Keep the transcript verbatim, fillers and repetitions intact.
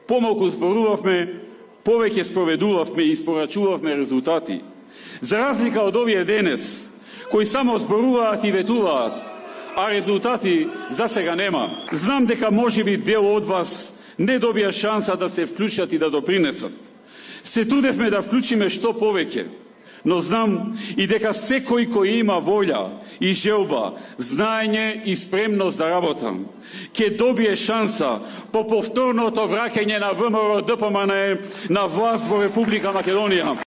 помалку зборувавме, повеќе спроведувавме и испорачувавме резултати. За разлика од овие денес, кои само зборуваат и ветуваат, а резултати за сега нема. Знам дека можеби дел од вас не добија шанса да се вклучат и да допринесат. Се трудевме да вклучиме што повеќе, но знам и дека секој кој има волја и желба, знаење и спремност за работа, ќе добие шанса по повторното враќање на ВМРО ДПМН на власт во Република Македонија.